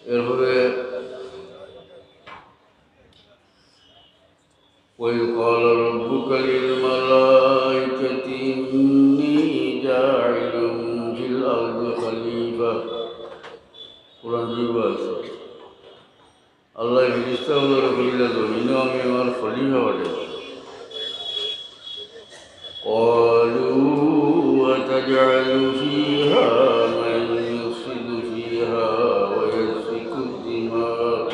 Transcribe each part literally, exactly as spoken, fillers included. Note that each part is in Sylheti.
এরপরে وإذ قال ربك للملائكة إني جاعل في الأرض خليفة। কোরআন শরীফ আছে। আল্লাহ ফিরিস্তা অকলরে কইলা, "জমিনো আমি আমার খলিফা বানাইমু।" قالوا أتجعل فيها من يفسد فيها ويسفك الدماء।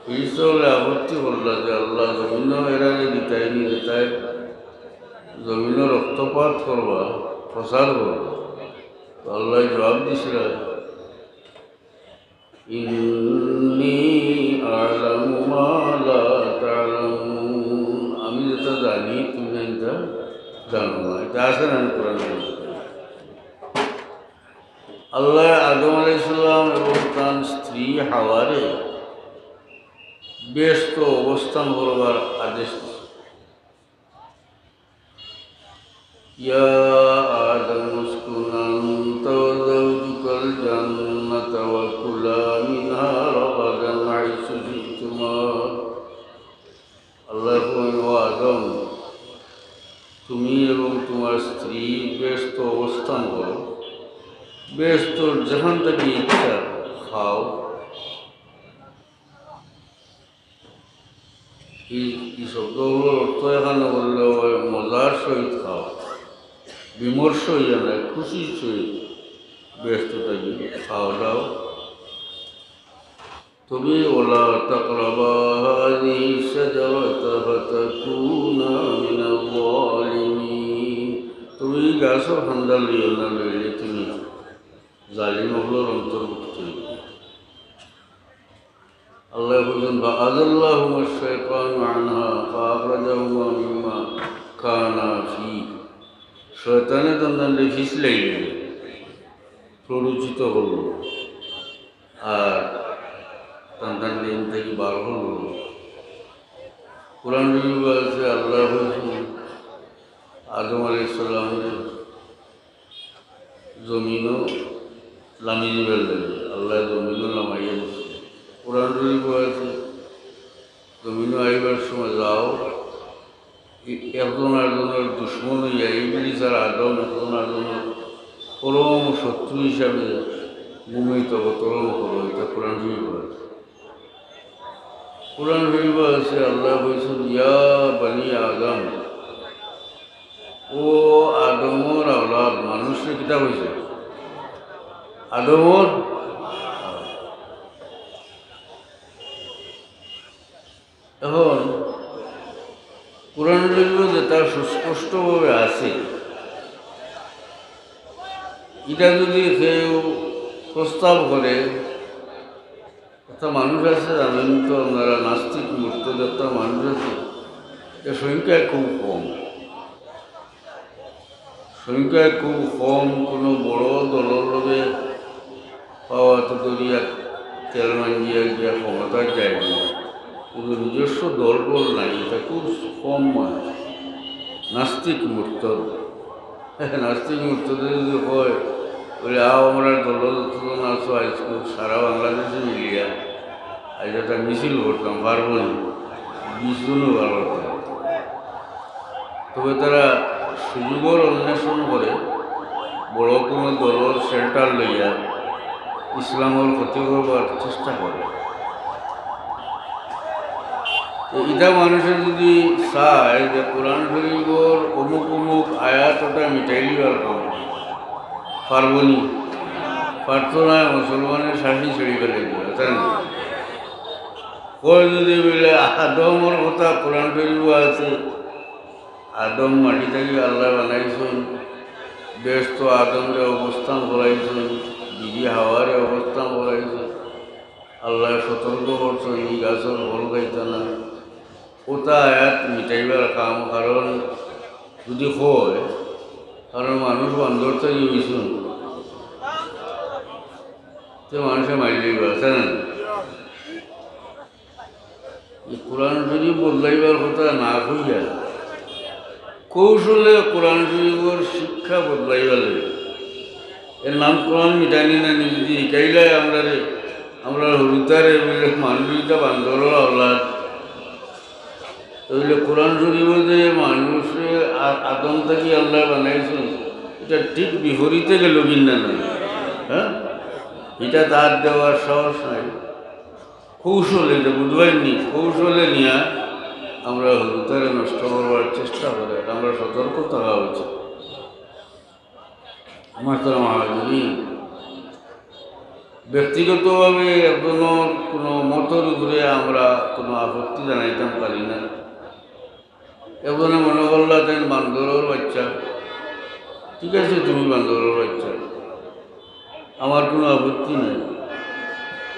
ফিরিস্তা অকলে আপত্তি করলা যে, "আল্লাহ, জমিনো এরারে দিতায় নি, দিতায় জমিনো রক্তপাত করবা, ফসাদ করবা।" তো আল্লাহ জবাব দিছিলা, إني أعلم ما لا تعلمون। আমি যেটা জানি, তুমি এটা জানো না। এটা আছে না কোরআন শরীফে? আল্লাহ আদম আলাইহিস সালাম এবং তার স্ত্রী হাওয়ারে বেহেশতো অবস্থান করবার আদেশ দিছে। يا آدم اسكن أنت وزوجك الجنة وكلا منها رغدا حيث شئتما। আল্লাহ কইন, "ও আদম, তুমি এবং তোমার স্ত্রী বেহেশতো অবস্থান করো, বেহেশতর যেখান থাকি ইচ্ছা খাও।" এই, এই শব্দগুলোর অর্থ এখানে বললে হয় মজার সহিত খাও, বিমর্ষ হইয়া না, খুশির সহিত বেহেশত থাকি খাও দাও। তবে ولا تقربا هذه الشجرة فتكونا من الظالمين। তবে এই গাছর ফান্দা লইও না, লইলে তুমি জালিম অকলর অন্তর্ভুক্ত হইবে। আল্লাহ বলছেন, فأزلهما الشيطان عنها فأخرجهما مما كانا فيه। শয়তানে তানতানরে ফিছলাইল, প্ররোচিত করল, আর তানতানরে ইন থাকি বার করল। কোরআন শরীফ আছে, আল্লাহ বলছেন, আদম আলাইহিস সালামরে জমিনো লামি দিবার লাগি, আল্লাহ জমিনো লামাইয়া দিছে। কোরআন শরীফ আছে, জমিনো আইবার সময় যাও, এ-, একজন আরেকজনর দুশমন হইয়া, ইবলিস আর আদম একজন আরেকজনর পরম শত্রু হিসাবে ঘুমাইত অবতরণ করো, এটা কোরআন শরীফ আছে। কোরআন শরীফ আছে, আল্লাহ কইছেন, "ইয়া বানি আদম", ও আদমর আওলাদ, মানুষরে কিতা কইছে? আদমর। এখন কোরআন শরীফ যেটা সুস্পষ্টভাবে আছে, এটা যদি কেউ প্রস্তাব করে, একটা মানুষ আছে, জানেন তো আপনারা, নাস্তিক মুরতাদ একটা মানুষ আছে, এর সংখ্যায় খুব কম। সংখ্যায় খুব কম, কোনো বড় দলর লগে পাওয়া তো দরিয়া তেল মাঞ্জিয়া গিয়া ক্ষমতায় যায় না, কিন্তু নিজস্ব দল বল নাই, এটা খুব কম মানুষ। নাস্তিক মুরতাদ। নাস্তিক মুরতাদে যদি কয়, বলে, "আও, আমরা দল যতজন আছো, আইজকু সারা বাংলাদেশে মিলিয়া আইজ একটা মিছিল করতাম, পারবো নি?" বিশ জনও পারবো না। তবে তারা সুযোগর অন্বেষণ করে, বড় কোনো দলর shelter লইয়া ইসলামর ক্ষতি করবার চেষ্টা করে। তো ইটা মানুষে যদি চায় যে কোরআন শরীফর অমুক অমুক আয়াত ওটা মিটাই দিবার কাম, পারবো নি? পারতো না, মুসলমানের শাসন ছেড়ে ফেলে দিবে, তাই না? কয় যদি বলে আদমর কথা কোরআন শরীফ আছে, আদম মাটি থাকি আল্লাহ বানাইছইন, বেহেশতো আদমরে অবস্থান করাইছইন, বিবি হাওয়ারে অবস্থান করাইছইন। আল্লাহ সতর্ক করছইন, ই গাছর ফল খাইতা না। ওটা আয়াত মিটাইবার কাম, কারণ যদি কয়, কারণ মানুষ বান্দর থাকি অইছইন, তে মানুষে মারি লইবা, আছে না? এই কোরআন শরীফ বদলাইবার কথা না কইয়া কৌশলে কোরআন শরীফর শিক্ষা বদলাইবার লাগে। এর নাম কোরআন মিটানি না নি? যদি হিকাইলায় আমরারে, আমরা হুরুতারে বলে মানুষ ইটা বান্দরর আওলাদ, তাইলে কোরআন শরীফ যে মানুষরে আ-, আদম থাকি আল্লায় বানাইছইন, ইটা ঠিক বিপরীতে গেল কিনা না? হ্যাঁ, ইটা তার দেওয়ার সাহস নাই। কৌশলে, ইটা বুঝবায় নি, কৌশলে নিয়া আমরা হুরুতারে নষ্ট করবার চেষ্টা করে, আমরা সতর্ক থাকা উচিত। মোহতারাম হাজিরিন, ব্যক্তিগতভাবে একজনর কোনো মতর উপরে আমরা কোনো আপত্তি জানাইতাম পারি না। একজনে মনে করলা তাইন বান্দরর বাচ্চা, ঠিক আছে, তুমি বান্দরর বাচ্চা, আমার কোনো আপত্তি নাই।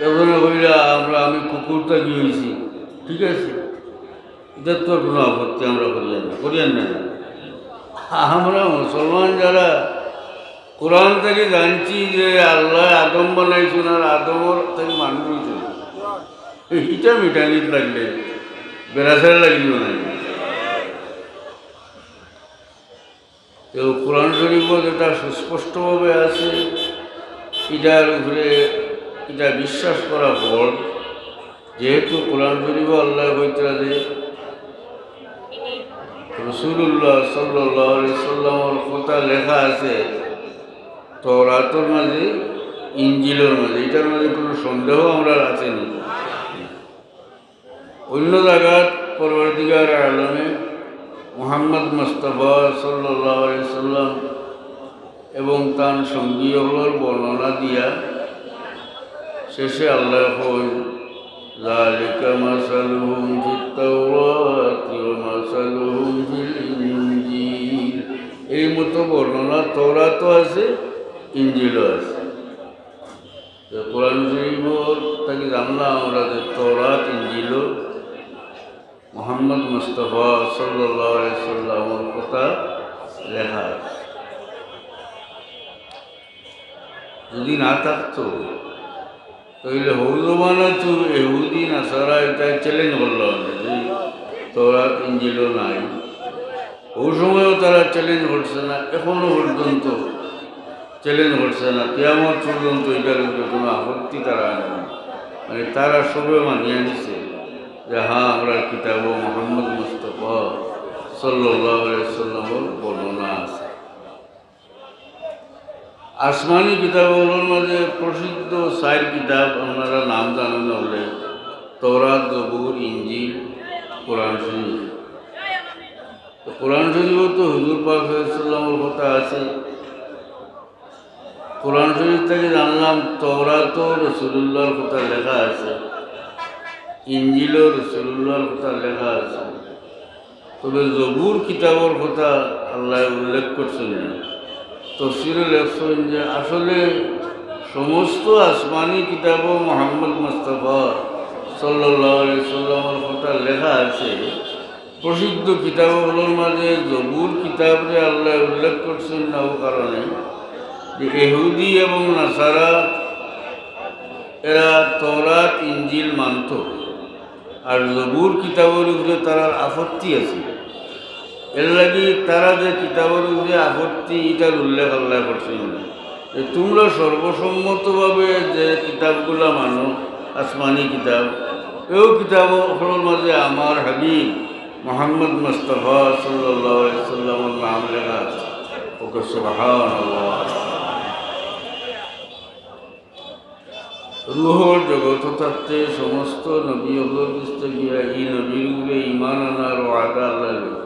একজনে কইলা আমরা, আমি কুকুর থাকি অইছি, ঠিক আছে, ইটার তো কোনো আপত্তি আমরা করিয়ার না, করিয়ার না। আমরা মুসলমান যারা, কোরআন থাকি জানছি যে আল্লায় আদম বানাইছইন আর আদমর থাকি মানুষ অইছইন, ইটা মিটানিত লাগলে বেড়াছাড়া লাগিল না। তো কোরআন শরীফও যেটা সুস্পষ্টভাবে আছে, ইটার উপরে ইটা বিশ্বাস করা ফরজ। যেহেতু কোরআন শরীফও আল্লায় কইতরা যে রাসূলুল্লাহ সাল্লাল্লাহু আলাইহি সাল্লামর কথা লেখা আছে তওরাতর মাঝে, ইনজিলর মাঝে, ইটার মাঝে কোনো সন্দেহ আমরার আছে নি। অন্য জাগাত পরওয়ারদিগার আলমে মুহাম্মদ মুস্তাফা সাল্লাল্লাহু আলাইহি সাল্লাম এবং তান সঙ্গী অকলর বর্ণনা দিয়া শেষে আল্লায় কইন, "যালিকা মাসালুহুম ফিত তাওরাতি ওয়া মাসালুহুম ফিল ইনজিল।" এই মতো বর্ণনা তওরাতও আছে, ইনজিলও আছে। তো কোরআন শরীফ থাকি জানলাম আমরা যে তওরাত, ইনজিল মুহাম্মদ মুস্তাফা সাল্লাল্লাহু আলাইহি সাল্লামর কথা লেখা আছে। যদি না থাকতো, তাইলে হউ জমানাত তো ইহুদি নাসারা ইটা চ্যালেঞ্জ করলো যে তওরাত ইনজিলও নাই। হউ সময়ও তারা চ্যালেঞ্জ করছে না, এখনো পর্যন্ত চ্যালেঞ্জ করছে না, কিয়ামত পর্যন্ত ইটার উপরে কোনো আপত্তি তারা আনে না। মানে, তারা সবে মানিয়া নিছে যে, "হ্যাঁ, আমরার কিতাবও মুহাম্মদ মুস্তাফা সাল্লাল্লাহু আলাইহি সাল্লামর বর্ণনা আছে।" আসমানি কিতাব অকলর মাঝে প্রসিদ্ধ চাইর কিতাব, আপনারা নাম জানইন না অইলে, তওরাত, জবুর, ইনজিল, কোরআন শরীফ। তো কোরআন শরীফও তো হুজুর পাক সাল্লাল্লাহু আলাইহি সাল্লামর কথা আছে। কোরআন শরীফ থাকি জানলাম তওরাতও রাসূলুল্লাহর কথা লেখা আছে, ইনজিলও রাসূলুল্লাহর কথা লেখা আছে। তবে জবুর কিতাবর কথা আল্লায় উল্লেখ করছইন না। তফসিরে লেখছইন যে আসলে সমস্ত আসমানি কিতাবও মুহাম্মদ মুস্তাফা সাল্লাল্লাহু আলাইহি সাল্লামর কথা লেখা আছে। প্রসিদ্ধ কিতাব অকলর মাঝে জবুর কিতাবরে আল্লায় উল্লেখ করছইন না, অউ কারণে যে ইহুদি এবং নাসারা এরা তওরাত ইনজিল মানতো, আর জবুর কিতাবর উপরে তারার আপত্তি আছে। এর লাগি তারা যে কিতাবর উপরে আপত্তি, ইটার উল্লেখ আল্লায় করছইন না। যে তোমরা সর্বসম্মতভাবে যে কিতাবগুলা মানো, আসমানি কিতাব, এও কিতাব অকলর মাঝে আমার হাবিব মুহাম্মদ মুস্তাফা সাল্লাল্লাহু আলাইহি সাল্লামর নাম লেখা আছে। ওকে সুবহানাল্লাহ। রুহর জগত থাকতে সমস্ত নবী অকলর গেছ থাকি ই নবীর উপরে ঈমান আনার ওয়াদা আল্লায় লইছইন।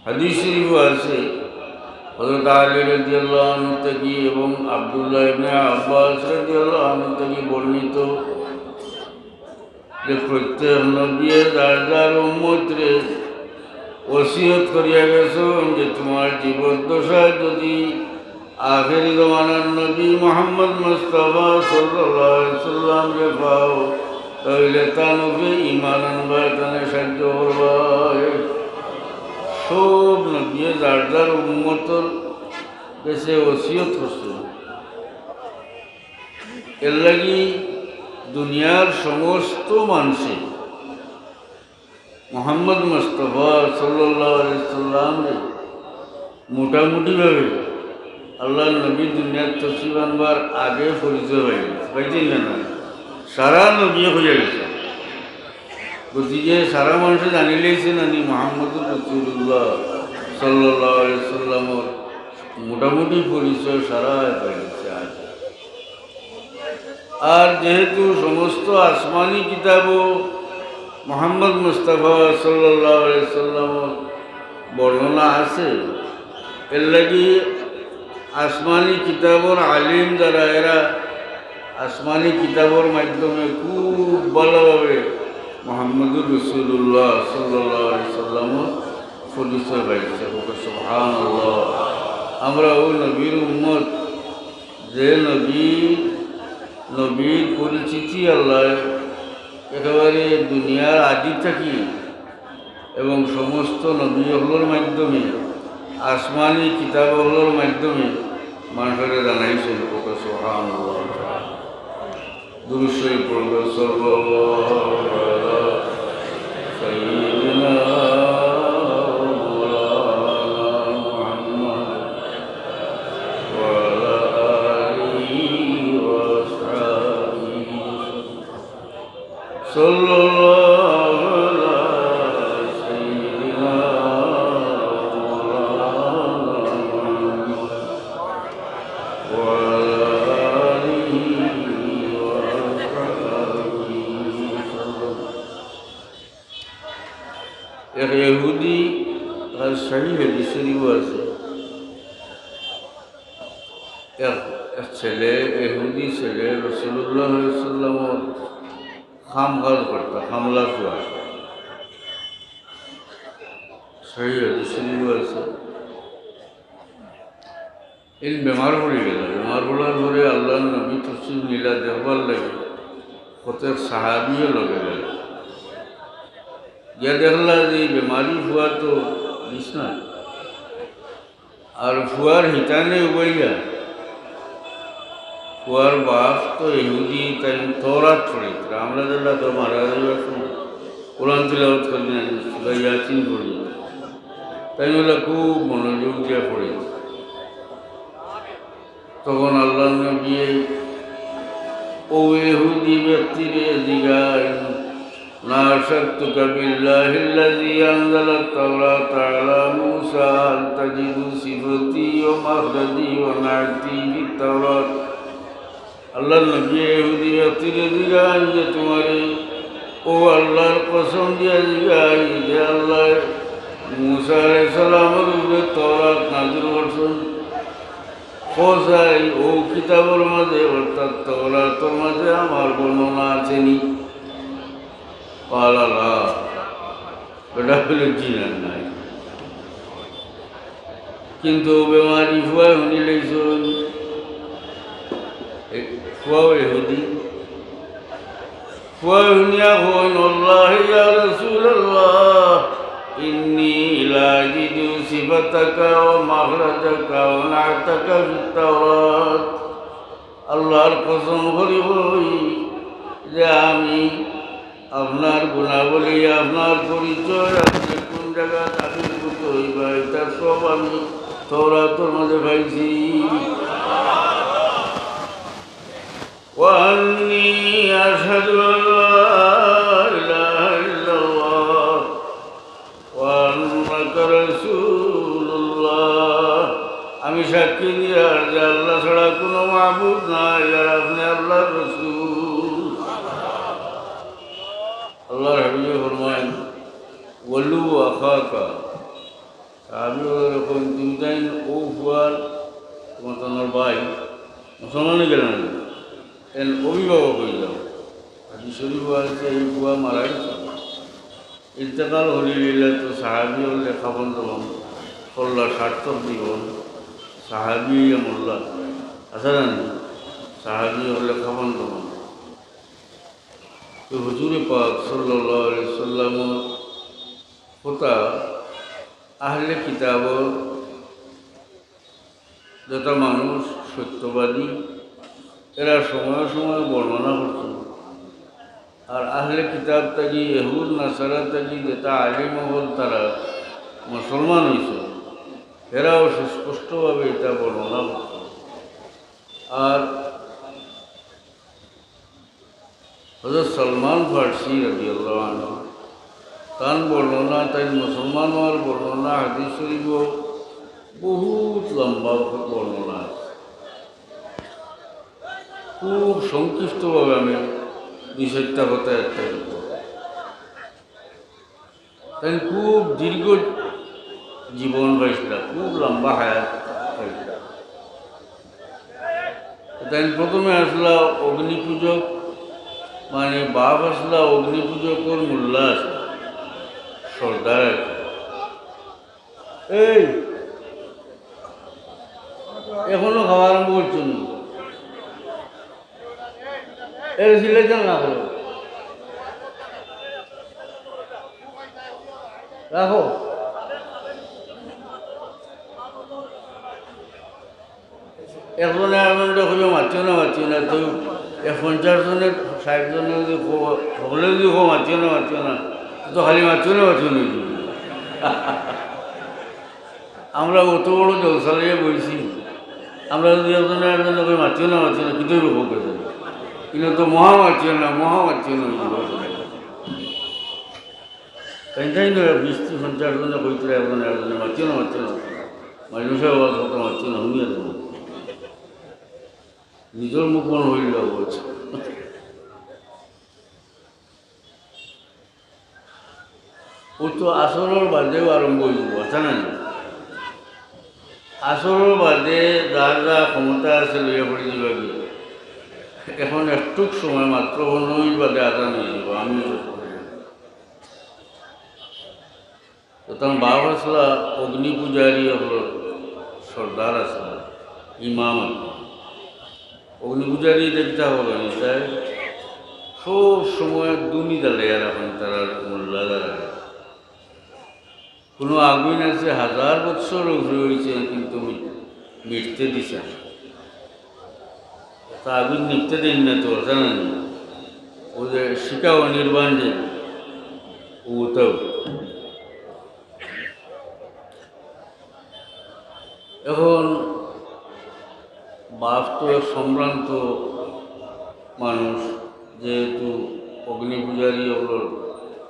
হাদিস শরীফও আছে, হযরত আলী রাদিয়াল্লাহু আনহু থাকি এবং আব্দুল্লাহ ইবনে আব্বাস রাদিয়াল্লাহু আনহু থাকি বর্ণিত যে প্রত্যেক নবীয়ে যার যার উম্মতরে ওসিয়ত করিয়া গেছইন যে তোমার জীবদ্দশায় যদি আখেরি জমানার নবী মুহাম্মদ মুস্তাফা সাল্লাল্লাহু আলাইহি সাল্লামরে পাও, তাইলে তান উপরে ঈমান আনবায়, তানে সাহায্য করবায়। সব নবীয়ে যার যার উম্মতর গেছে ওসিয়ত করছইন। এর লাগি দুনিয়ার সমস্ত মানষে মুহাম্মদ মুস্তাফা সাল্লাল্লাহু আলাইহি সাল্লামরে মোটামুটিভাবে আল্লাহর নবী দুনিয়াত তশরিফ আনবার আগে পরিচয় পাইছইন, পাইছইন না? না, সারা নবী হইয়া গেছে। গতিকে সারা মানুষে জানিলাইছে নানি মুহাম্মদুর রাসূলুল্লাহ সাল্লাল্লাহু আলাইহি সাল্লামর মোটামুটি পরিচয় সারা পাইছে আজ। আর যেহেতু সমস্ত আসমানি কিতাবও মুহাম্মদ মুস্তাফা সাল্লাল্লাহু আলাইহি সাল্লামর বর্ণনা আছে, এর লাগি আসমানি কিতাবর আলিম যারা, এরা আসমানি কিতাবর মাধ্যমে খুব ভালোভাবে মুহাম্মদুর রাসূলুল্লাহ সাল্লাল্লাহু আলাইহি সাল্লামর পরিচয় পাইছে। বলতে সুবহানাল্লাহ। আমরা ওই নবীর উম্মত, যে নবী, নবীর পরিচিতি আল্লাহ একেবারে দুনিয়ার আদি থাকি এবং সমস্ত নবী অকলর মাধ্যমে, আসমানি কিতাব অকলর মাধ্যমে মানুষরে জানাইছইন। বলতে সুবহানাল্লাহ। দুরূদ শরীফ পড়ুন, সাল্লাল্লাহু আলা সাইয়্যিদিনা ওয়া মাওলানা মুহাম্মদ ওয়া আলা আলিহি ওয়া আসহাবিহি ওয়া সাল্লাম। সাল্লাল্লাহু আলা সাইয়্যিদিনা ওয়া মাওলানা মুহাম্মদ ওয়া আলা আলিহি ওয়া আসহাবিহি ওয়া সাল্লাম। এক ইহুদি, আর সহি হাদিস শরীফও আছে, এক, এক ছেলে, ইহুদি ছেলে রাসূলুল্লাহ সাল্লাল্লাহু আলাইহি ওয়াসাল্লামর কাম কাজ করতা, কামলা পুয়া। সহি হাদিস শরীফও আছে। ইন বেমার পড়ি গেলা। বেমার পড়ার পরে আল্লাহর নবী তশরিফ নিলা দেখবার লাগি, কতক সাহাবিও লগে গেলা। গিয়া দেখলা যে ই বেমারি পুয়া তো বিছনাত, আর পুয়ার হিতানে উবাইয়া। পুয়ার বাপ তো ইহুদি, তাইন তওরাত পড়িতরা। আমরা যেলা তো মারা যাইবার সময় কোরআন তিলাওয়াত করি না, সূরা ইয়াসিন পড়ি। তাইন অলা খুব মনোযোগ দিয়া পড়িতরা। তখন আল্লাহর নবী অউ ইহুদি ব্যক্তিরে জিগাইন, ناشدتك بالله الذي أنزل التوراة على موسى هل تجد صفتي ومخرجي ونعتي في التوراة। আল্লাহর নবী ইহুদি ব্যক্তিরে জিগাইন যে, তুমারে অউ আল্লাহর কসম দিয়া জিগাই যে আল্লায় মুসা আলাইহিস সালামর উপরে তওরাত নাজিল করছইন, কও চাই অউ কিতাবর মাঝে অর্থাৎ তওরাতর মাঝে আমার বর্ণনা আছে নি? قال لا। বেটা কইলো, জি না, নাই। কিন্তু বেমারি পুয়ায় হুনিলাইছইন, এ, পুয়াও ইহুদি। পুয়ায় হুনিয়া কইন, والله يا رسول الله إني لأجد صفتك ومخرجك ونعتك في التوراة। আল্লাহর কসম করি কই যে আমি আপনার গুণাবলী, আপনার পরিচয়, আপনি কোন জাগাত আবির্ভূত অইবা, ইতা সব আমি তওরাতর মাঝে পাইছি। وأني أشهد أن لا إله إلا الله وأنك رسول الله। আমি সাক্ষী দিয়ার যে আল্লাহ ছাড়া কোনো মাবুদ নাই, আর আপনি আল্লাহর রসুল। আল্লাহর হাবিবে ফরমাইন, ولو أخاك। সাহাবী অকলরে কইন, তুমি তাইন অউ পুয়ার, তুমার তো আমার ভাই, মুসলমান অই গেলা না, এন অভিভাবক অই যাও। হাদিস শরীফো আছে, এই পুয়া মারা গেছে। ইন্তেকাল করিলিলা তো সাহাবী অকলে কাফন দাফন করলা, সার্থক জীবন, সাহাবী অইয়া মরলা। আচ্ছা জানি, সাহাবী অকলে কাফন দাফন। তো হুজুরে পাক সাল্লাল্লাহু আলাইহি সাল্লামর কথা আহলে কিতাবর যেটা মানুষ সত্যবাদী, এরা সময় সময় বর্ণনা করতো। আর আহলে কিতাব থাকি, ইহুদ নাসারা থাকি যেটা আলিম অকল তারা মুসলমান অইছে, এরাও সুস্পষ্টভাবে এটা বর্ণনা করতো। আর হযরত সালমান ফার্সি রাদিয়াল্লাহু আনহু, তান বর্ণনা, তাইন মুসলমান অওয়ার বর্ণনা হাদিস শরীফো বহুত লম্বা বর্ণনা আছে। খুব সংক্ষিপ্তভাবে আমি দুই চাইরটা কথা একটা বলব। তাইন খুব দীর্ঘ জীবন পাইছিলা, খুব লম্বা হায়াত পাইছিলা। তাইন প্রথমে আছলা অগ্নিপূজক, মানে বাপ আছলা অগ্নিপূজকর মোল্লা আছলা, সর্দার আর কি। এই, এখনো খাওয়া আরম্ভ করছো না? এর সিলেকশন না করো, রাখো। একজনে আরজনরে কইবা মাতিও না, মাতিও না, তো এক পঞ্চাশ জনে, ষাইট জনে যদি কও, সকলে যদি কও মাতিও না, মাতিও না, তো খালি মাতিও না, মাতিও না অইযিবো। আমরা অত বড় জলসা লইয়া বইছি, আমরা যদি একজনে আরজনরে কই মাতিও না, মাতিও না, কিতা অইবো কউক্কা? ইনো তো মহা মাতিও না, মহা মাতিও না অইযিবো। তাইন তাইন তো বিশ ত্রিশ পঞ্চাশ জনে কইতরা একজনে আরজনরে মাতিও না, মাতিও না, মাতিও না। মাইনষে ওয়াজ করতে মাতিও না, হুনিয়া তো নিজর মুখ মন অইল বলছে। ও তো আসরর বাদেউ আরম্ভ অইযিবো, আছে না নি? আসরর বাদে যার যা ক্ষমতা আছে লইয়া পড়ি দিবা গি। এখন একটুক সময় মাত্র, পনেরো মিনিট বাদে আজান অইযিবো, আমি তো তান বাপ আছলা অগ্নি পূজারী অকলর সর্দার আছলা, ইমাম আর কি। অগ্নি পূজারী ইটা কিতা অইলো, ইটায় সব সময় ধুনি জ্বালাইয়া রাখইন তারার মোল্লা যারা। কুনু আগুইন আছে হাজার বছর উপরে অইছে, কিন্তু মি-, মিটতে দিছে না। তা আগুইন নিভতে দেইন না তো, জানো নি? ও যে শিখা অনির্বাণ যে, ও তো। এখন বাপ তো এক সম্ভ্রান্ত মানুষ, যেহেতু অগ্নি পূজারী অকলর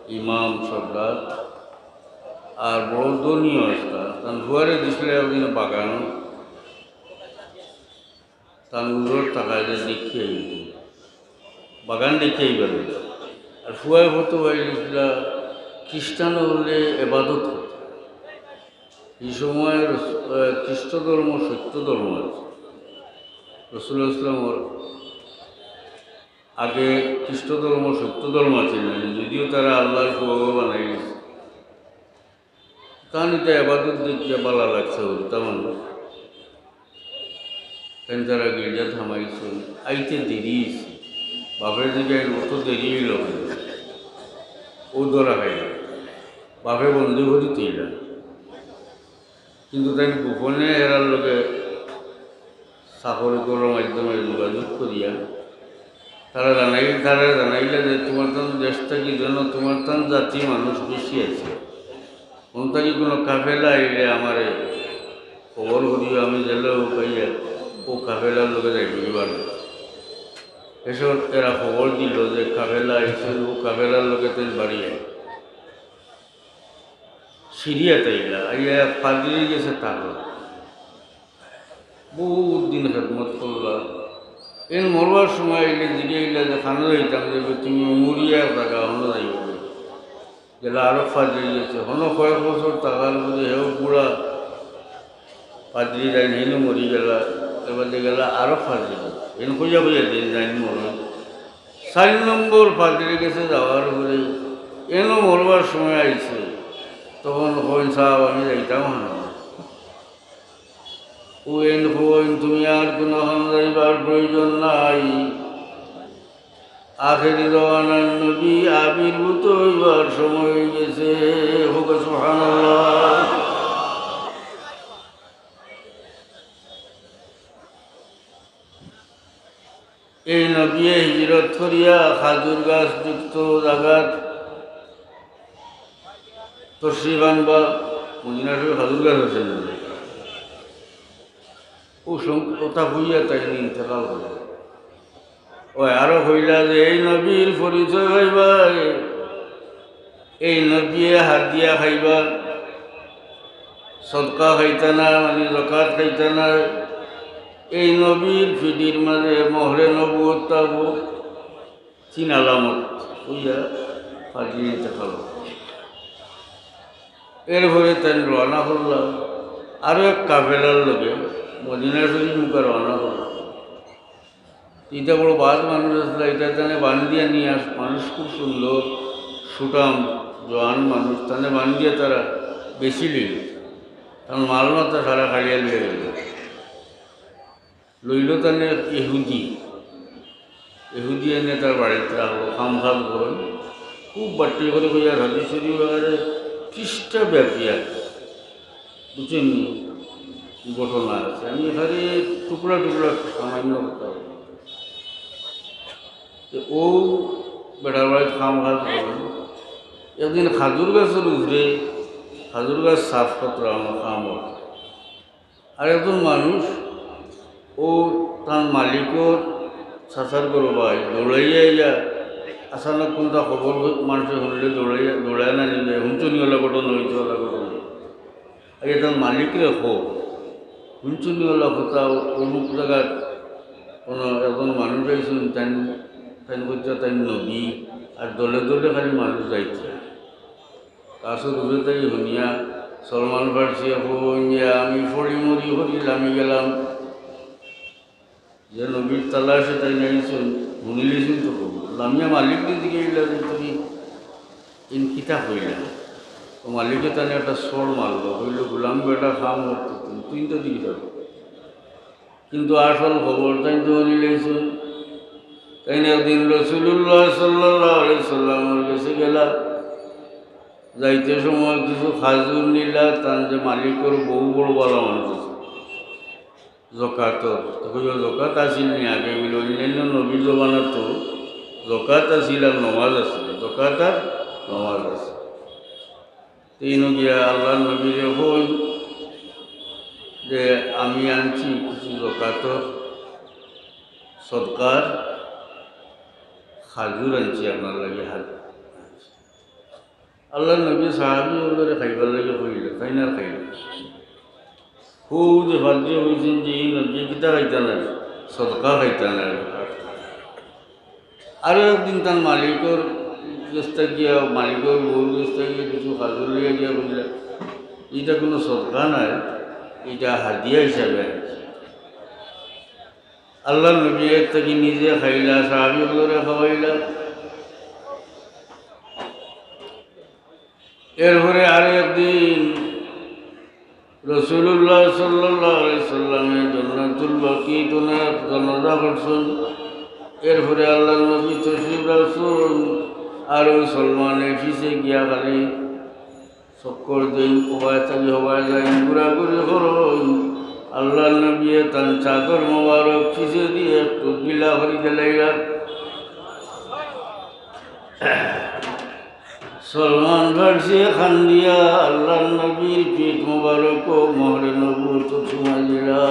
ইমাম সর্দার, আর বড় ধনীও আছলা। তান ফুয়ারে দিছলা একদিন বাগানো, তান উজরর টাকা দিয়া দেখিয়া আইতো। বাগান দেখিয়া আইবার লাগি। আর ফুয়ায় ফতোয়া দিছলা, খ্রিস্টান অকলে এবাদত করতা। ই সময় রস-, আহ, খ্রিস্ট ধর্ম সত্য ধর্ম আছিল। রাসূলুল্লাহ সাল্লাল্লাহু আলাইহি ওয়াসাল্লামর আগে খ্রিস্ট ধর্ম সত্য ধর্ম আছিল না, যদিও তারা আল্লাহর ফুয়া বানাই গেছে। তান ইটা এবাদত দেখিয়া ভালা লাগছে, বুঝতা মানুষ। তাইন তারা গির্জাত হামাইছইন, আইতে দেরি অইছে। বাপে জিগাইন, "অত দেরি অইলো কেনে?" ও ধরা খাইল। বাপে বন্দি করি থইলা। কিন্তু তাইন গোপনে এরার লগে চাকরি করার মাধ্যমে যোগাযোগ করিয়া তারা জানাই-, তারা জানাইলা যে, "তোমার তান দেশ থাকি যেন তোমার তান জাতি মানুষ বেশি আছে। কোন থাকি কোনো কাফেলা আইলে আমারে খবর করিও, আমি যেলা পাইয়া ও কাফেলার লগে যাইমু।" এসব এরা খবর দিল যে কাফেলা আইছে, ও কাফেলার লগে তাইন বাড়ি আইল। সিরিয়াত আইলা, আইয়া এক পাদ্রির গেছে থাকলা। বহুত দিন খেদমত করলা। এন মরবার সময় আইলে জিগাইলা যে, "কানো যাইতাম?" যে, "তুমি মরিয়া এক জাগা, হনো যাইবা।" গেলা আরো পাদ্রির গেছে, হনো কয়েক বছর থাকার পরে হেও বুড়া পাদ্রি যাইন, হেনও মরি গেলা। এবার গেলা আরো পাদ্রি, হেন খুঁজা খুঁজা দিন যাইন মরইন। চাইর নম্বর পাদ্রির গেছে যাওয়ার পরে এনও মরবার সময় আইছে, তখন কইন, "সাব, আমি যাইতাম না।" ও এন কইন, "তুমি আর কুনু খানো যাইবার প্রয়োজন নাই। আখেরি জমানার নবী আবির্ভূত অইবার সময় অই গেছে।" কউক্কা সুবহানাল্লাহ। এই নবীয়ে হিজরত করিয়া খাজুর গাছ যুক্ত জাগাত তশরিফ আনবা। মদিনা শরীফ খাজুর গাছ আছে না? ও সং-, কথা কইয়া তাইন ইন্তেকাল করলা। ও আরো কইলা যে এই নবীর পরিচয় পাইবায়, এই নবীয়ে হাদিয়া খাইবা, সদকা খাইতা না, মানে জকাত খাইতা না। এই নবীর পিঠির মাঝে মোহরে নবুয়ত থাকবো। তিন আলামত কইয়া পাদ্রী ইন্তেকাল। এরপরে তাইন রওয়ানা করলা আরো এক কাফেলার লগে, মদিনা শরীফ মুখা রওয়ানা করলা। ইটা বড় বাদ মানুষ আছলা, ইটা তানে বান্ধিয়া নিয়া আস-, মানুষ খুব সুন্দর, সুঠাম, জোয়ান মানুষ, তানে বান্ধিয়া তারা বেশি লইল। তান মাল মাতা সারা কাড়িয়া লইয়া গেল। লইল তানে ইহুদি। ইহুদি এনে তার বাড়িত রাখলো, কাম কাজ করেন। খুব বাট্টি করে কইয়া হাদিস শরীফ আকারে পৃষ্ঠা ব্যাপী আর, বুঝছেন নি? ঘটনা আছে। আমি এখানে টুকরা টুকরা সামান্য কথা বলবো। তো ও বেটার বাড়িত কাম কাজ করেন। একদিন খাজুর গাছের উপরে, খাজুর গাছ সাফ করতে আমার কাম হয়। আর একজন মানুষ, ও তার মালিকর চাচার ঘরো ভাই, দৌড়াইয়া আইয়া, আচানক কোনটা খবর মানুষে শুনলে দৌড়াইয়া, দৌড়াইয়া না নিবে, হুনছনি ওলা ঘটনা হইতে ওলা ঘটনা। আগে তার মালিকরে কো, হুনছনি ওলা কথা, অমুক জায়গাত কোনো একজন মানুষ আইছইন, তাইন, তাইন কইতা তাইন নবী, আর দলে দলে খালি মানুষ যাইতে। গাছর উপরে থাকি হুনিয়া সলমান ফার্সিয়ে কইন যে, "আমি পড়ি মরি করি লামি গেলাম।" যে নবীর তালাশে তাইন আইছইন, হুনিলিছইন তো কইন। লামিয়া মালিকরে জিগাইলা যে, "তুমি ইন কিতা কইলা?" তো মালিকে তানে একটা চড় মারলো, কইল, "গোলাম বেটা, কাম করতে তুমি, তুই তো দিকে যাবে।" কিন্তু আসল খবর তাইন তো হুনিলিছইন। তাইন একদিন রাসূলুল্লাহ সাল্লাল্লাহু আলাইহি সাল্লামর গেছে গেলা, যাইতে সময় কিছু খাজুর নিলা, তান যে মালিকর বউ বড় ভালা মানুষ আছিল, জকাতর। তো কইল, "জকাত আছিল নি আগে?" বলে, "অন্যান্য নবীর জমানাত তো জকাত আছিল আর নমাজ আছিল, জকাত আর নমাজ আছিল।" তিন গিয়া আল্লাহর নবীরে কইল যে, "আমি আনছি কিছু জকাতর, সদকার খাজুর আনছি আপনার লাগি।" হাত আল্লাহর নবী সাহাবী অকলরে খাইবার লাগি কইলা, তাইন আর খাইলা। খুব যে বাদ দিয়া কইছইন যে এই নবী কিতা খাইতা না, সদকা খাইতা না। আরো একদিন তান মালিকর গেছ থাকিয়া, মালিকর বউর গেছ থাকিয়া কিছু খাজুর লইয়া গিয়া কইলা, "ইটা কোনো সদকা নায়, ইটা হাদিয়া হিসাবে আনছি।" আল্লাহর নবী এর থাকি নিজে খাইলা, সাহাবী অকলরে খাওয়াইলা। এরপরে আরো একদিন রাসূলুল্লাহ সাল্লাল্লাহু আলাইহি সাল্লামে জান্নাতুল বাকিত ওনার জানাজা পড়ছইন। এরপরে আল্লাহর নবী তশরিফ রাখছইন, আর ওই সলমানে পিছে গিয়া খালি চক্কর দেইন, হবায় থাকি হবায় যাইন, ঘুরাঘুরি করইন। আল্লাহর নবীয়ে তান চাদর মোবারক পিছে দিয়া একটু ঢিলা করি দিলাইলা। সলমান ফার্সিয়ে কান্দিয়া আল্লাহর নবীর পিঠ মোবারকো মোহরে নবুয়ত চুমা দিলা।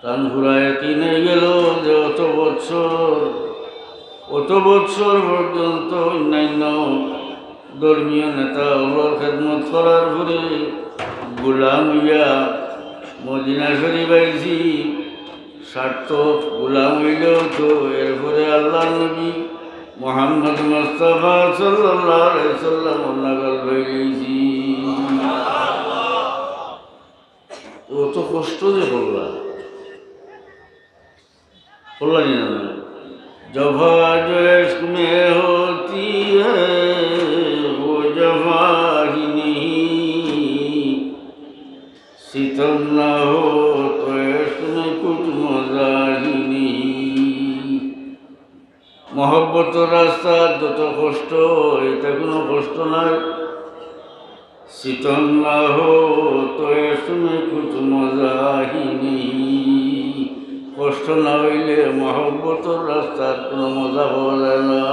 তান পুরা ইয়াকিন অই গেল যে অত বৎসর, অত বৎসর পর্যন্ত অন্যান্য ধর্মীয় নেতা অকলর খেদমত করার পরে গোলাম অইয়া মদিনা শরীফ আইছি, সার্থক গোলাম অইলেও তো এরপরে আল্লাহর নবী মুহাম্মদ মুস্তাফা সাল্লাল্লাহু আলাইহি সাল্লামর নাগাল অই গেছি। অত কষ্ট যে করলা, করলা নি না? جفا جو عشق میں ہوتی ہے، وہ جفا ہی نہیں، ستم نہ ہو تو عشق میں کچھ مزہ ہی نہیں۔ মহব্বতর রাস্তাত যত কষ্ট, ইটা কোনো কষ্ট নায়। ستم نہ ہو تو عشق میں کچھ مزہ ہی نہیں۔ কষ্ট না অইলে মহব্বতর রাস্তার কোনো মজা পাওয়া যায় না।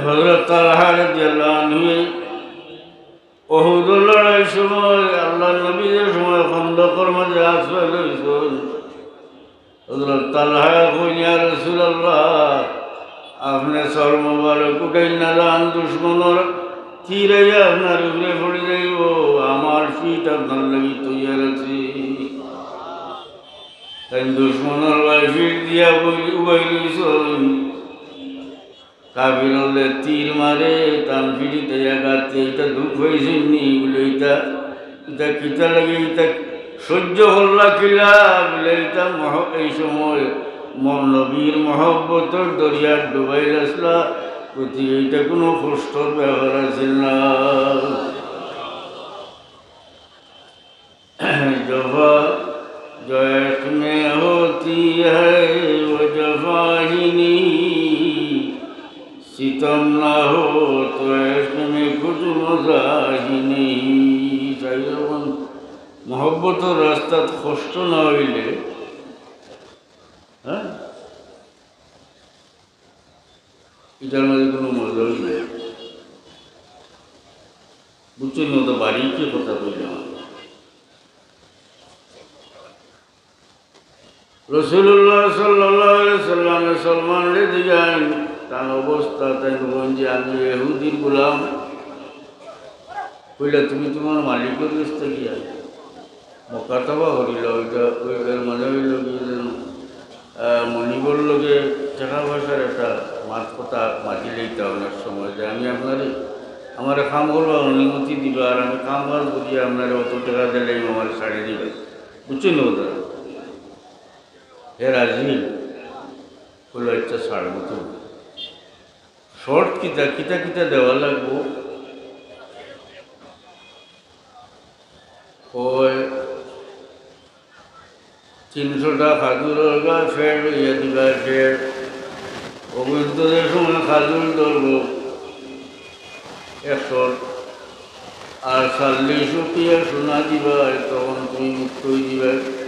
হযরত তালহা রাদিয়াল্লাহু আনহু সময় আল্লাহর নবী যে সময় খন্দকর মাঝে আশ্রয় লইছইন, হযরত তালহা কইন, "ইয়া রাসূলুল্লাহ, আপনে সর মোবারক উঠাইন না যান, দুশমনর তীর আইয়া আপনার উপরে পড়ি যাইবো, আমার পিঠ আপনার লাগি তৈয়ার আছে।" তাইন দুশমনর বায় পিঠ দিয়া বই-, উবাই লইছইন। কাফির অকলে তীর মারে, তান পিঠিত আইয়া গাতে, ইটা দুখ পাইছইন নি? বুলে, "ইটা, ইটা কিতা লাগি? ইটা সহ্য করলা কিলা?" বুলে, "ইটা মহ-, এই সময় ম-, নবীর মহব্বতর দরিয়াত ডুবাইল আছলা, গতিকে ইটা কুনু কষ্টর ব্যাপার আছিল না।" جفا جو عشق میں ہوتی ہے وہ جفا ہی نہیں، ستم نہ ہو تو عشق میں کچھ مزہ ہی نہیں۔ তাই যখন মহব্বতর রাস্তাত কষ্ট না অইলে, হ্যাঁ, ইটার মাঝে কুনু মজাই নাই। বুঝছইন নি? তো বাড়িতে কথা কইলাম। রাসূলুল্লাহ সাল্লাল্লাহু আলাইহি সাল্লামে সলমানরে জিগাইন, তান অবস্থা, তাইন কইন যে, "আমি ইহুদির গোলাম।" কইলা, "তুমি তুমার মালিকর গেছ থাকি আইছো।" মুকাতাবা করিলা, ওইটা, ওই, এর মানে অইলো কি যে, আহ, মনিবর লগে টেকা পয়সার একটা মাত কথা মাতিলাইতা অনেক সময় যে, "আমি আপনারে, আমারে কাম করবার অনুমতি দিবা, আর আমি কাম কাজ করিয়া আপনারে অত টেকা দিলাইমু, আমারে ছাড়ি দিবা।" বুঝছইন নি কথা? হে রাজি, কইলো, "আচ্ছা, ছাড়মু তো।" শর্ত কিতা, কিতা কিতা দেওয়া লাগবো? কয়, তিনশোটা খাজুরর গাছ ফের রইয়া দিবা, ফের। অগুইন্তে যে সময় খাজুর ধরবো, একশো, আর চাল্লিশ উকিয়া সোনা দিবা, তখন তুমি মুক্ত অই দিবা।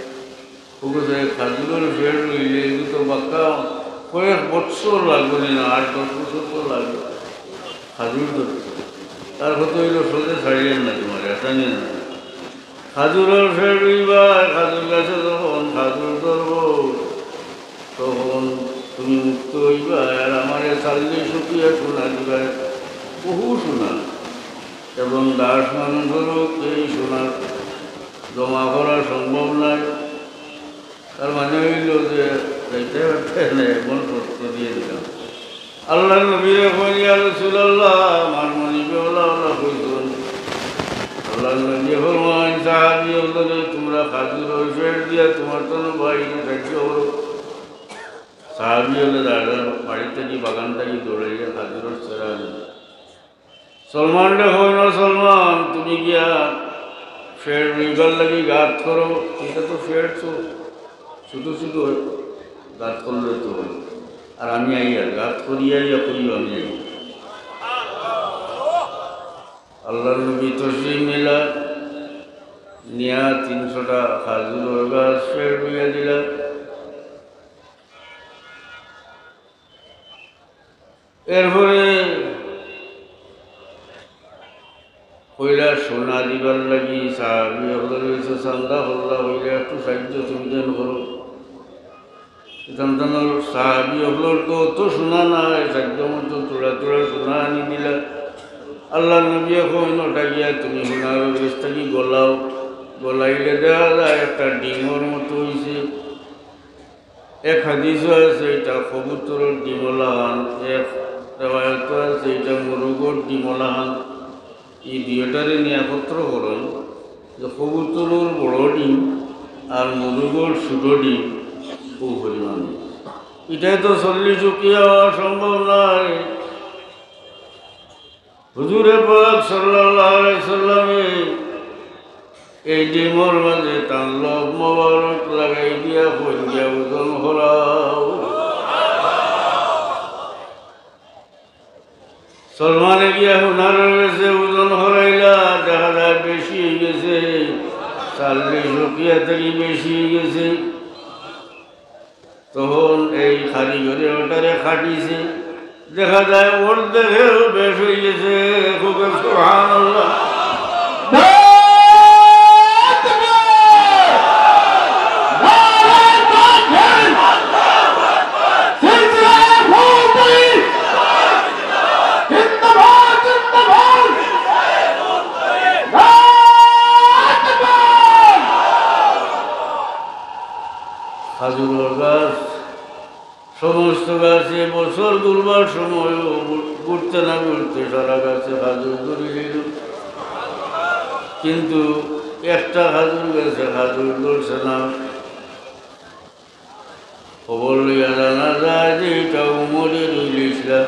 ওগো যে খাজুরর ফের রইলে, এগু তো বাক্কা কয়েক বছর লাগবো নি না, আট দশ বছর তো লাগবো খাজুর ধরতে। তার কথা অইলো, সোজা ছাড়িয়ার না তুমারে, আসানি না। খাজুরর ফের রইবা, খাজুর গাছে যখন খাজুর ধরবো, তখন তুমি মুক্ত অইবা, আর আমারে চাল্লিশ উকিয়া সোনা দিবা, বহু সোনা। এবং দাস মানুষরও এই সোনা জমা করা সম্ভব নায়। তার মানে অইলো যে যাইতে পারতে না, এমন শর্ত দিয়া দিলাম। আল্লাহর নবীয়ে কইন, "ইয়া রাসূলুল্লাহ, আমার মনিবে অলা অলা কইছইন।" আল্লাহর নবীয়ে ফরমাইন, "সাহাবী অকলরে তুমরা খাজুরর ফের দিয়া তুমার তন বাইরে সাহায্য করো।" সাহাবী অকলে দাঁড়ান, বাড়ি থাকি, বাগান থাকি দৌড়াইয়া খাজুরর ছেড়া আনে। সলমানরে কইন, "ও সলমান, তুমি গিয়া ফের রইবার লাগি গাত করো।" ইটা তো ফের তো ছোট ছোট গাত করলে তো অয়। আর আমি আইয়ার গাত করিয়া আইয়া কইও আমি আইয়ার। আল্লাহর নবী তশরিফ নিলা, নিয়া তিনশোটা খাজুরর গাছ ফের রইয়া দিলা। এরপরে কইলা সোনা দিবার লাগি সাহাবী অকলর গেছে চান্দা করলা, কইলা একটু সাহায্য তুমি দেন করো। ইতান তানোর সাহাবী অকলর তো অত সোনা নাই, সাধ্য মতো থুড়া থুড়া সোনা আনি দিলা। আল্লাহর নবীয়ে কইন, "ওটা গিয়া তুমি সোনার গেছ থাকি গলাও।" গলাইলে দেখা যায় একটা ডিমর মতো অইছে। এক হাদিসও আছে, ইটা কবুতরর ডিম লাখান, এক রেওয়ায়তো আছে, ইটা মুরুগর ডিম লাখান। ই দুইটারে নিয়া একত্র করইন যে কবুতরর বড় ডিম আর মুরুগর ছোট ডিম অউ পরিমাণ। ইটায় তো চল্লিশ উকিয়া অওয়া সম্ভব নায়। হুজুরে পাক সাল্লাল্লাহু আলাইহি সাল্লামে এই ডিমর মাঝে তান লব মোবারক লাগাই দিয়া কইন গিয়া ওজন করাও। সলমানে গিয়া সোনার গেছে ওজন করাইলা, দেখা যায় বেশি অই গেছে, চাল্লিশ উকিয়া থাকি বেশি অই গেছে। তখন এই কারিগরে ওটারে কাটিছে, দেখা যায় অর্ধেকেরও বেশ অই গেছে। খুব সুবহানাল্লাহ। খাজুরর গাছ, সমস্ত গাছে বছর ঘুরবার সময়ও ঘুরতে না ঘুরতে সারা গাছে খাজুর ধরি দিল, কিন্তু একটা খাজুর গাছে খাজুর ধরছে না। খবর লইয়া জানা যায় যে ইটা উমরে রইলিছলা।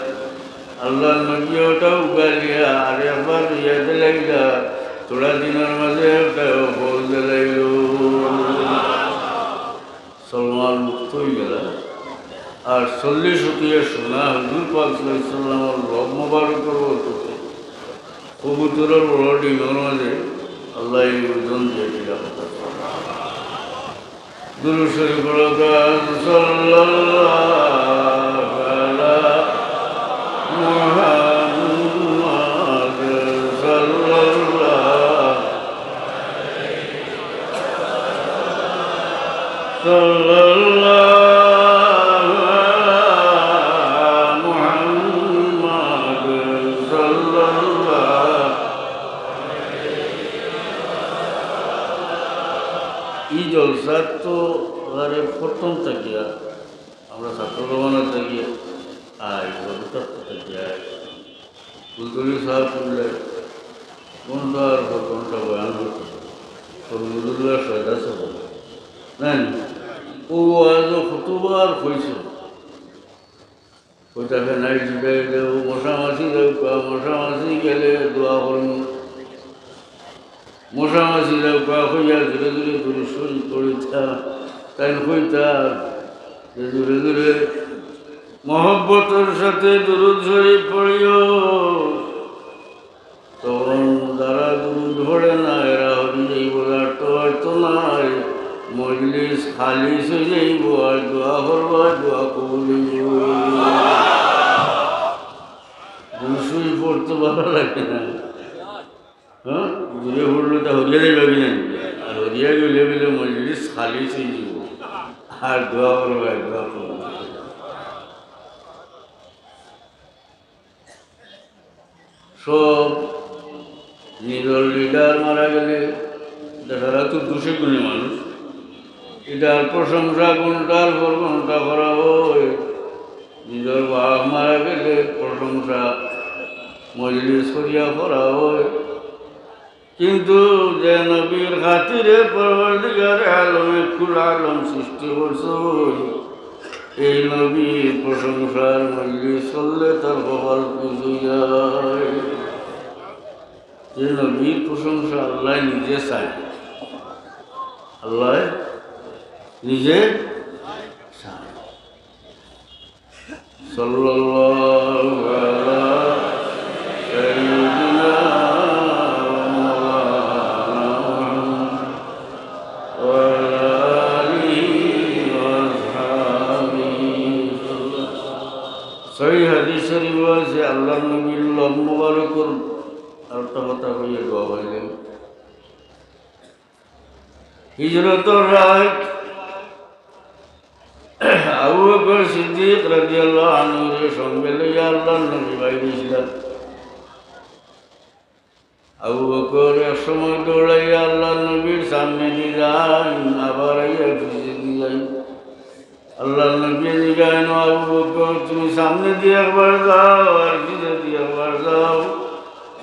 আল্লাহর নবী ওটা উগালিয়া আর একবার রইয়া দিলাইলা, থোড়া দিনর মাঝে ওটা ফল দিলাইল। সলমান মুক্ত হয়ে গেল। আর চল্লিশ উকিয়া সোনা হুজুর পাক সাল্লাল্লাহু আলাইহি ওয়াসাল্লামর লব মোবারকর বরকতে কবুতরর বড় ডিমর মাঝে আল্লাহ এই ওজন দিয়ে দিলাম। দুরূদ শরীফ পড়ো, সাল্লাল্লাহু আলা মুহাম্মদ, সাল্লাল্লাহু, সাল্লাল্লাহু আলা মুহাম্মদ, সাল্লাল্লাহু। এই জলসাত তো আরে প্রথম থাকিয়া, আমরা ছাত্র জমানা থাকিয়া, আর এই জলসা থাকিয়া, ফুলতলি সাহেব করলে ঘন্টার পর ঘন্টা বয়ান করতে, সরমুদুল্লাহ সয়দা সাহেব, না নি? ও আজ কতবার কইছে, ওইটাকে নাই জিগাই দেব, মশা মাছি দেব, মশা মাছি গেলে দোয়া করুন। মশা মাছি দেব, কইয়া ধীরে ধীরে দুরূদ শরীফ পড়িতা। তাই কইতা যে ধীরে ধীরে মহব্বতর সাথে দুরূদ শরীফ পড়িও। তখন যারা দুরূদ পড়ে না, এরা হরি যাইব, আর তো হয়তো নাই, মজলিস খালিস হয়ে যাইব, আর দোয়া করবা, দোয়া কবুল হইব। দুরূদ শরীফ পড়তে ভালো লাগে না, হ্যাঁ? দূরে পড়লে তো হরিয়া যাইবা কি না? আর হরিয়া গেলে বলে মজলিস খালিস হয়ে যাইব, আর দোয়া করবা, দোয়া করবা। সব নিজের লিডার মারা গেলে দেখা যায় তো দুষে গুণে মানুষ, এটার প্রশংসা ঘন্টার পর ঘন্টা করা হয়। নিজের বাপ মারা গেলে প্রশংসা মজলিস করিয়া করা হয়। কিন্তু যে নবীর খাতিরে পরওয়ারদিগারে আলমে কুল আলম সৃষ্টি করছইন, এই নবীর প্রশংসার মজলিস করলে তার কপাল খুশ হয়ে যায়। যে নবীর প্রশংসা আল্লাহ নিজে চায়, আল্লাহ নিজে চায়। সাল্লাল্লাহু আলা সাইয়্যিদিনা ওয়া মাওলানা মুহাম্মদ ওয়া আলা আলিহি ওয়া আসহাবিহি। সহিহ হাদিস শরীফ আছে, আল্লাহর নবীর লব মোবারকর আর একটা কথা কইয়া দোয়া পাইলেন। হিজরতর রাইত আবু বকর সিদ্দিক রাদিয়াল্লাহু আনহুরে সঙ্গে লইয়া আল্লাহর নবী বাইর হইছিলা। আবু বকর এক সময় দৌড়াইয়া আল্লাহর নবীর সামনে দি যাইন, আবার আইয়া পিছে দি যাইন। আল্লাহর নবী জিগাইন, "আবু বকর, তুমি সামনে দি একবার যাও, আর পিছে দি একবার যাও।"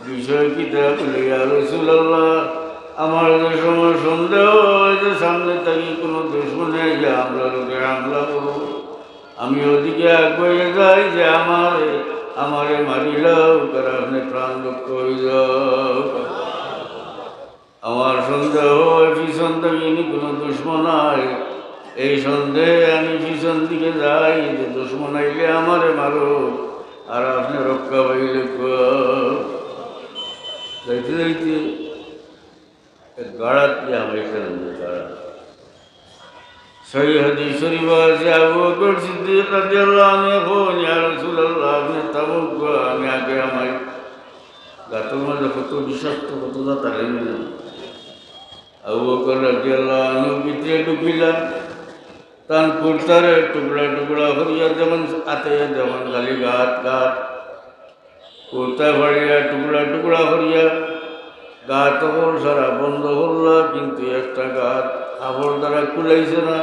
বিষয় কিতা? বলে, "ইয়া রাসূলুল্লাহ, আমার যে সময় সন্দেহ হয় যে সামনে থাকি কোনো দুশমনে আইয়া আমরার উপরে হামলা করবো, আমি ওদিকে আগুয়াইয়া যাই যে আমারে, আমারে মারিলাও, আর আপনে প্রাণ রক্ষা হয়ে যাও।" আমার সন্দেহ হয় পিছন থাকি কোনো দুশমন আয়, এই সন্দেহে আমি পিছন দিকে যাই যে দুশমন আইলে আমারে মারো, আর আপনে রক্ষা পাইলে কও। যাইতে যাইতে এক গাড়াত গিয়া হামাইছইন, গাড়াত। সহিহ হাদিস শরীফ আছে, আবু বকর সিদ্দিক রাদিয়াল্লাহু আনহু কইন, "ইয়া রাসূলুল্লাহ, আপনে থামউক্কা, আমি আগে হামাই।" গাতর মাঝে কত বিষাক্ত, কত জাত আর এমনি। আবু বকর রাদিয়াল্লাহু আনহু ভিতরে ঢুকিলা, তান কুর্তারে টুকরা টুকরা করিয়া যেমন আতে যেমন খালি গাত, গাত, কুর্তা ফাড়িয়া টুকরা টুকরা করিয়া গাত হকল সারা বন্ধ করলা, কিন্তু একটা গাত কাপড় দ্বারা কুলাইছে না।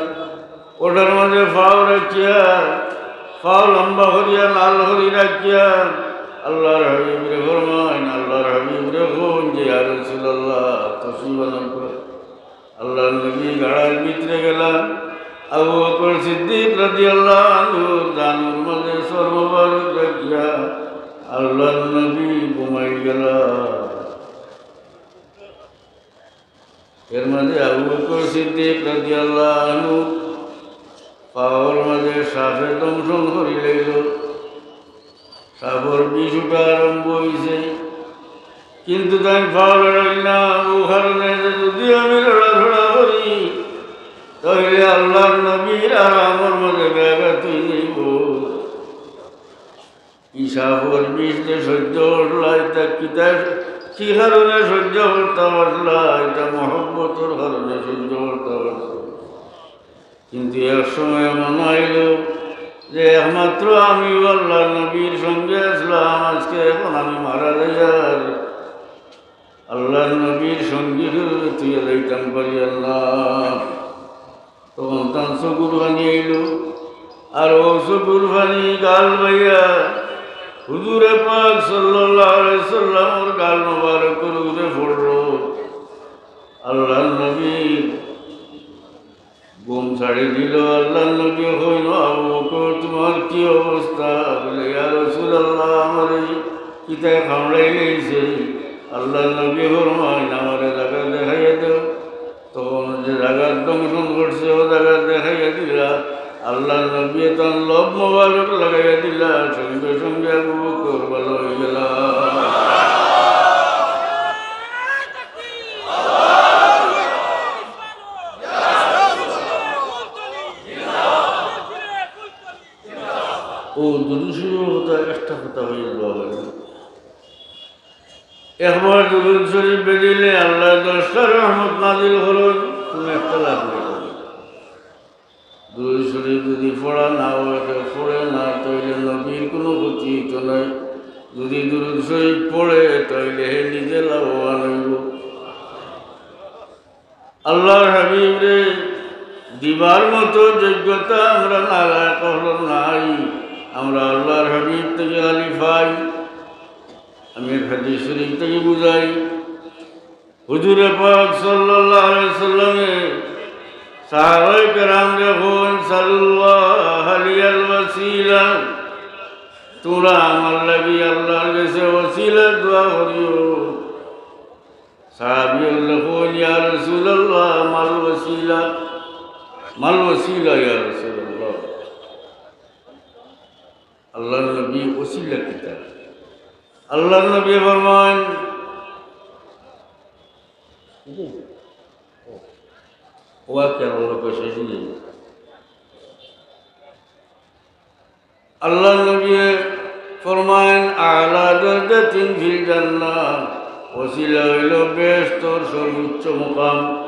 ওটার মাঝে পাও রাখিয়া, পাও লম্বা করিয়া, লাল করি রাখিয়া, আল্লাহর হাবিবরে ফরমাইন, আল্লাহর হাবিবরে কইন যে, "ইয়া রাসূলুল্লাহ, তশরিফ আনউক্কা।" আল্লাহর নবী গাড়ার ভিতরে গেলা, আবু বকর সিদ্দিক রাদিয়াল্লাহু আনহু জানুর মাঝে সর মোবারক রাখিয়া আল্লাহর নবী ঘুমাই গেলা। এর মাঝে আবু বকর সিদ্দিক রাদিয়াল্লাহু আনহু পাওর মাঝে সাপে দংশন করি লাইল। সাপর বিষ উঠা আরম্ভ অইছে, কিন্তু তাইন পাও লড়াইল না। ও কারণে যে যদি আমি লড়াচড়া করি, তাহলে আল্লাহর নবীর আরামর মাঝে ব্যাঘাত অই যাইব। ই সাপর বিষ যে সহ্য করলা, ইটা কিতা, কি কারণে সহ্য করতা পারলা? ইটা মহব্বতর কারণে সহ্য করতা পারলা। কিন্তু এক সময় মনে অইল যে একমাত্র আমিউ আল্লাহর নবীর সঙ্গে আছলাম, আজকে এখন আমি মারা যাইয়ার, আল্লাহর নবীর সঙ্গী হিসাবে থুইয়া যাইতাম পারিয়ার না। তখন তান চকুর পানি আইল, আর অউ চকুর পানি গাল বাইয়া হুজুরে পাক সাল্লাল্লাহু আলাইহি সাল্লামর গাল মোবারকর উপরে পড়ল। আল্লাহর নবীর ঘুম ছাড়ি দিল। আল্লাহর নবী কইন, "আবু বকর, তুমার কি অবস্থা?" বলে, "ইয়া রাসূলুল্লাহ, আমারে কিতায় কামড়াই লাইছে।" আল্লাহর নবী ফরমাইন, "আমারে জাগা দেখাইয়া দেও।" তখন যে জাগাত দংশন করছে, অউ জাগা দেখাইয়া দিলা। আল্লাহর নবী তান লব মোবারক লাগাইয়া দিলা, সঙ্গে সঙ্গে আবু বকর ভালা অই গেলা। অউ দুরূদ শরীফর কথা, একটা কথা অইল বাবা। একবার দুরূদ শরীফ বেদিলে আল্লাহ দশটা রহমত নাজিল করইন, কুনু একটা লাভ নাই। দুরূদ শরীফ যদি পড়া না অয়, কেউ পড়ে না, তাইলে নবীর কুনু ক্ষতি অইতো নায়। যদি দুরূদ শরীফ পড়ে, তাইলে হে নিজে লাভবান অইব। আল্লাহর হাবিবরে দিবার মতো যোগ্যতা আমরা নালায়েক অকলর নাই। আমরা আল্লাহর হাবিব থাকি খালি পাই। আমি এক হাদিস শরীফ থাকি বুঝাই, হুজুরে পাক সাল্লাল্লাহু আলাইহি সাল্লামে সাহাবায়ে কেরামরে কইন, "সালুল্লাহ লিয়াল ওয়াসিলা।" তুমরা আমার লাগি আল্লাহর গেছে ওসিলার দোয়া করিও। সাহাবী অকলে কইন, "ইয়া রাসূলুল্লাহ, মাল ওয়াসিলা, মাল ওয়াসিলা ইয়া রাসূলুল্লাহ।" আল্লাহর নবী, ওসিলা কিতা? আল্লাহর নবী ফরমাইন, ওয়া কেন লোক শেষ নেই? আল্লাহর নবী ফরমাইন, "আলা দারাজাতিন ফিল জান্নাহ", ওসিলা অইল বেহেশতর সর্বোচ্চ মুকাম।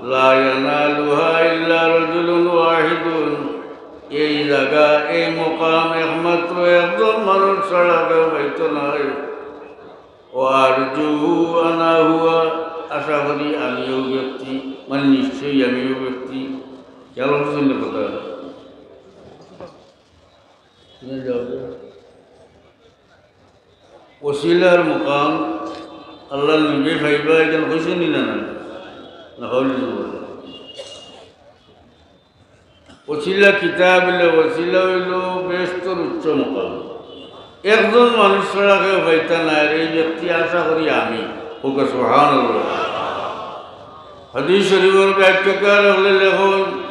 "লা ইয়ানালুহা ইল্লা রাজুলুন ওয়াহিদুন", এই জাগা, এই মুকাম একমাত্র একজন মানুষ ছাড়া কেউ পাইতো নায়। "ওয়া আরজু আনা হুয়া", আশা করি আমিও ব্যক্তি, মানে নিশ্চয়ই আমিও ব্যক্তি। খেয়াল করছেন না কথা? ওসিলার মুকাম আল্লাহর নবী পাইবা, এখানে কইছেন নি না? না, না, হইল না। ওসিলা কিতা বলে? ওসিলা অইল বেহেশতর উচ্চ মুকাম। একজন মানুষ ছাড়া কেউ পাইতা নায়, আর এই ব্যক্তি আশা করি আমি। ওকে সুবহানাল্লাহ। হাদিস শরীফর ব্যাখ্যাকার অকলে লেখইন,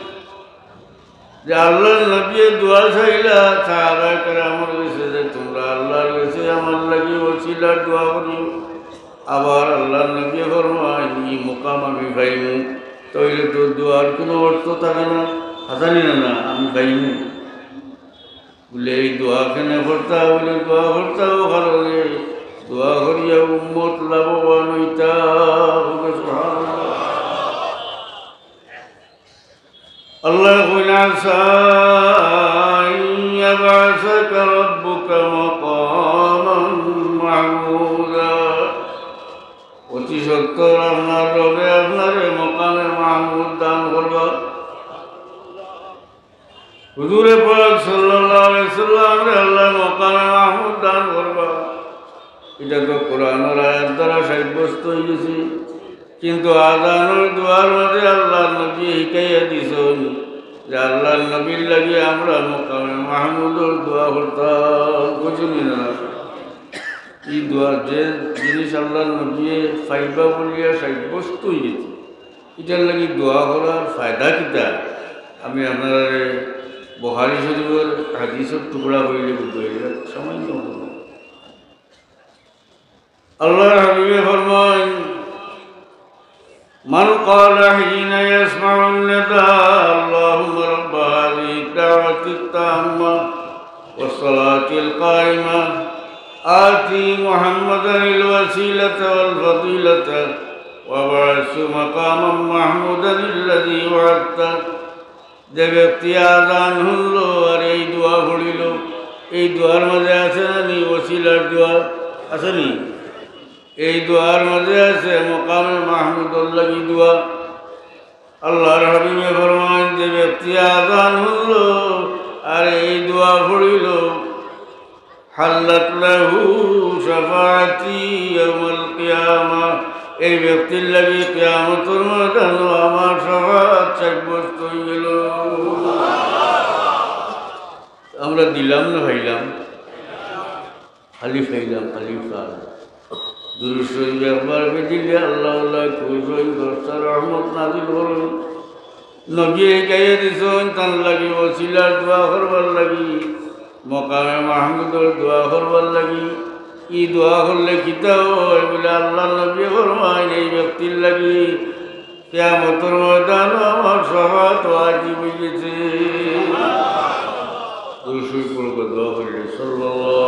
যে আল্লাহর নবীয়ে দোয়া চাইলা সাহাবায়ে কেরামর গেছে যে, "তুমরা আল্লাহর গেছে আমার লাগি ওসিলার দোয়া করিও।" আবার আল্লাহর নবীয়ে ফরমাইন, "ই মুকাম আমি পাইমু, তাইলে তো দোয়ার কুনু অর্থ থাকে না, হাছানি না, না, আমি পাইমু।" বলে, "এই দোয়া কেনে করতা?" বলে, "দোয়া করতা অউ কারণে, দোয়া করিয়া উম্মত লাভবান অইতা।" সুবহানাল্লাহ। আল্লাহ কইন, "আসা আন ইয়াবআসাকা রাব্বুকা মাকামান মাহমুদা।" অতি সত্বর আপনার রবে আপনারে মকামে মাহমুদ দান করবা। হুজুরে পাক সাল্লাল্লাহু আলাইহি সাল্লামরে আল্লায় মাকামে মাহমুদ দান করবা, ইটা তো কোরআনর আয়াত দ্বারা সাব্যস্ত অইগেছে। কিন্তু আজানর দোয়ার মাঝে আল্লাহর নবী হিকাইয়া দিছইন যে আল্লাহর নবীর লাগি আমরা মাকামে মাহমুদর দোয়া করতাম। বুঝছইন নি না? ই দোয়া, যে জিনিস আল্লাহর নবী পাইবা বলিয়া সাব্যস্ত অইগেছে, ইটার লাগি দোয়া করার ফায়দা কিতা? আমি আপনারারে বুখারী শরীফর হাদিসর টুকরা কইলে বুঝাইয়া সামান্য। আল্লাহর হাবিবে ফরমাইন, من قال حين يسمع النداء: اللهم رب هذه الدعوة التامة والصلاة القائمة آت محمدا الوسيلة والفضيلة وابعثه مقاما محمودا الذي وعدته। যে ব্যক্তি আজান হুনলো আর এই দোয়া পড়িলো, এই দোয়ার মাঝে আছে না নি ওসিলার দোয়া? আছে নি? এই দোয়ার মাঝে আছে মাকামে মাহমুদর লাগি দোয়া। আল্লাহর হাবিবে ফরমাইন, যে ব্যক্তি আজান হুনলো আর এই দোয়া পড়িলো, حلت له شفاعتي يوم القيامة। এই ব্যক্তির লাগি কিয়ামতর ময়দানো আমার শাফাআত সাব্যস্ত অইগেলো। আমরা দিলাম না পাইলাম? খালি পাইলাম, খালি পাইলাম। দুরূদ শরীফ একবার পড়িলে আল্লাহ, আল্লাহ খুশ অইন, দশটা রহমত নাজিল করইন। নবীয়ে হিকাইয়া দিছইন তান লাগি ওসিলার দোয়া করবার লাগি, মাকামে মাহমুদর দোয়া করবার লাগি। ই দোয়া করলে কিতা অয়? বলে আল্লাহর নবীয়ে ফরমাইন, এই ব্যক্তির লাগি কিয়ামতর ময়দানো আমার শাফাআত ওয়াজিব অইগেছে। দুরূদ শরীফ পড়বা, দোয়া করিলে, সাল্লাল্লাহু